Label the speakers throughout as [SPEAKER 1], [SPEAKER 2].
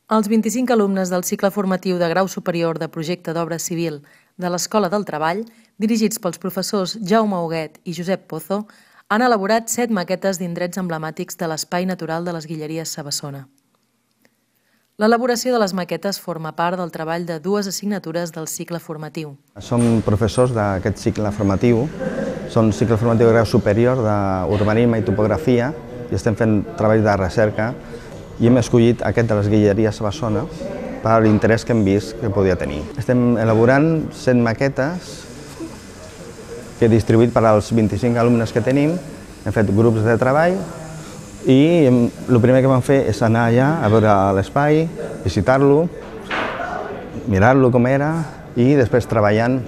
[SPEAKER 1] Els 25 alumnes del cicle formatiu de grau superior de projecte d'obra civil de l'Escola del Treball, dirigits pels professors Jaume Huguet i Josep Pozo, han elaborat 7 maquetes d'indrets emblemàtics de l'espai natural de les Guilleries Sabassona. L'elaboració de les maquetes forma part del treball de 2 assignatures del cicle formatiu.
[SPEAKER 2] Som professors d'aquest cicle formatiu, són cicle formatiu de grau superior d'urbanisme i topografia i estem fent treballs de recerca i hem escollit aquest de les Guilleries Sabassona per l'interès que hem vist que podia tenir. Estem elaborant 100 maquetes que he distribuït per als 25 alumnes que tenim, hem fet grups de treball i el primer que vam fer és anar allà a veure l'espai, visitar-lo, mirar-lo com era i després treballant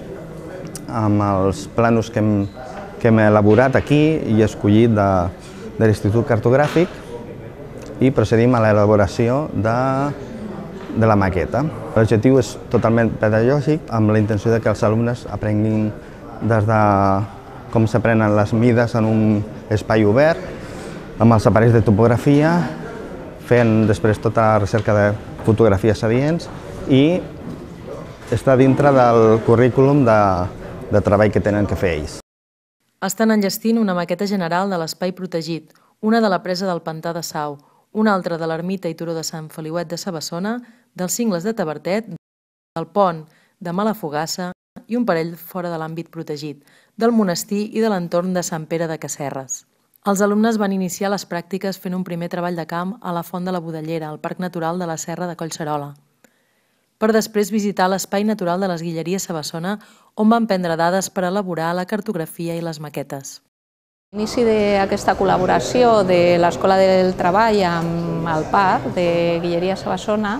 [SPEAKER 2] amb els plànols que hem elaborat aquí i escollit de l'Institut Cartogràfic i procedim a l'elaboració de la maqueta. L'objectiu és totalment pedagògic amb la intenció de que els alumnes aprenguin des de com s'aprenen les mides en un espai obert, amb els aparells de topografia, fent després tota la recerca de fotografies adients i està dintre del currículum de treball que tenen que fer ells.
[SPEAKER 1] Estan enllestint una maqueta general de l'espai protegit, una de la presa del Pantà de Sau, una altra de l'ermita i turó de Sant Feliuet de Sabassona, dels cingles de Tavertet, del pont de Malafogassa i un parell fora de l'àmbit protegit, del monestir i de l'entorn de Sant Pere de Casserres. Els alumnes van iniciar les pràctiques fent un primer treball de camp a la Font de la Budellera, al Parc Natural de la Serra de Collserola, per després visitar l'Espai Natural de les Guilleries Sabassona, on van prendre dades per elaborar la cartografia i les maquetes.
[SPEAKER 3] L'inici d'aquesta col·laboració de l'Escola del Treball amb el Parc de Guilleries Sabassona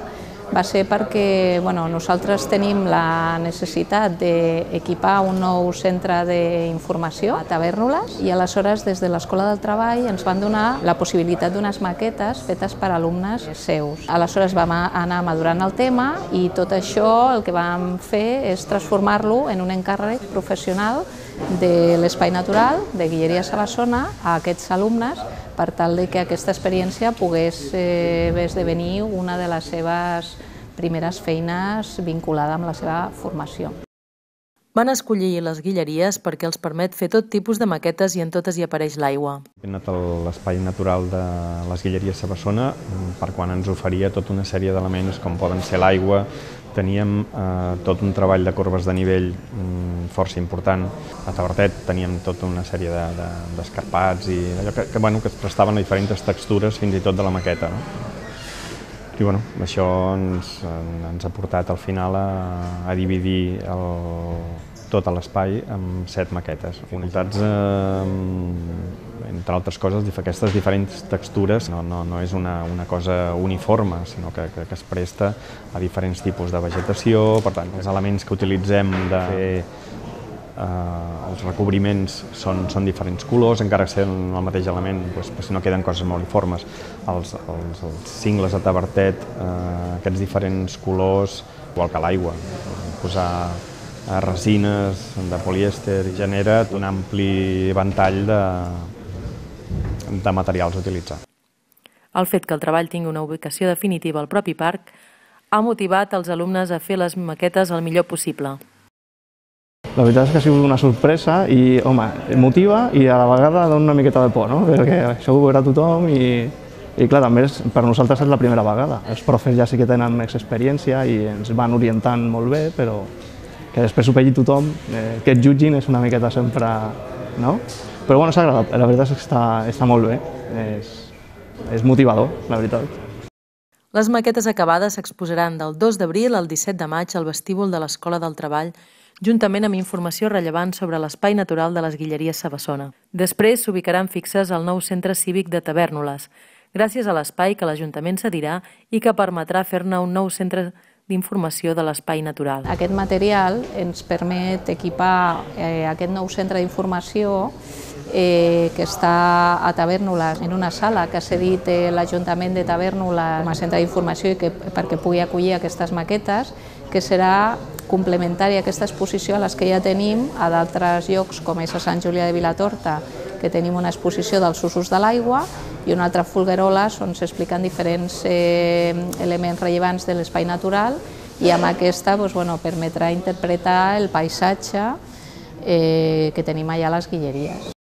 [SPEAKER 3] va ser perquè nosaltres tenim la necessitat d'equipar un nou centre d'informació a Tavèrnoles i aleshores des de l'Escola del Treball ens van donar la possibilitat d'unes maquetes fetes per alumnes seus. Aleshores vam anar madurant el tema i tot això el que vam fer és transformar-lo en un encàrrec professional de l'Espai Natural de Guilleries Sabassona a aquests alumnes per tal que aquesta experiència pogués esdevenir una de les seves primeres feines vinculada amb la seva formació.
[SPEAKER 1] Van escollir les guilleries perquè els permet fer tot tipus de maquetes i en totes hi apareix l'aigua.
[SPEAKER 4] Hem anat a l'Espai Natural de les Guilleries Sabassona per quan ens oferia tota una sèrie d'elements com poden ser l'aigua. Teníem tot un treball de corbes de nivell força important. A Tavertet teníem tota una sèrie d'escarpats i allò que es prestaven a diferents textures fins i tot de la maqueta. I això ens ha portat al final a dividir tot l'espai en 7 maquetes. Unitats, entre altres coses, aquestes diferents textures no és una cosa uniforme, sinó que es presta a diferents tipus de vegetació. Per tant, els elements que utilitzem de fer els recobriments són diferents colors, encara que siguin el mateix element, si no queden coses molt uniformes. Els cingles de Tavertet, aquests diferents colors, igual que l'aigua, posar resines de polièster genera un ampli ventall de materials a utilitzar.
[SPEAKER 1] El fet que el treball tingui una ubicació definitiva al propi parc ha motivat els alumnes a fer les maquetes el millor possible.
[SPEAKER 5] La veritat és que ha sigut una sorpresa i, motiva i a la vegada dona una miqueta de por, perquè això ho veurà tothom i clar, també per nosaltres és la primera vegada. Els profes ja sí que tenen més experiència i ens van orientant molt bé, però que després ho vegi tothom, que et jutgin és una miqueta sempre, no? Però s'ha agradat, la veritat és que està molt bé, és motivador, la veritat.
[SPEAKER 1] Les maquetes acabades s'exposaran del 2 d'abril al 17 de maig al vestíbul de l'Escola del Treball, juntament amb informació rellevant sobre l'Espai Natural de les Guilleries Sabassona. Després s'ubicaran fixes al nou centre cívic de Tavèrnoles, gràcies a l'espai que l'Ajuntament cedirà i que permetrà fer-ne un nou centre d'informació de l'Espai Natural.
[SPEAKER 3] Aquest material ens permet equipar aquest nou centre d'informació que està a Tavèrnoles, en una sala que ha cedit l'Ajuntament de Tavèrnoles com a centre d'informació perquè pugui acollir aquestes maquetes, que serà complementària a aquesta exposició a les que ja tenim a d'altres llocs, com és a Sant Julià de Vilatorta, que tenim una exposició dels usos de l'aigua, i una altra folguerola on s'expliquen diferents elements rellevants de l'espai natural, i amb aquesta permetrà interpretar el paisatge que tenim allà a les Guilleries.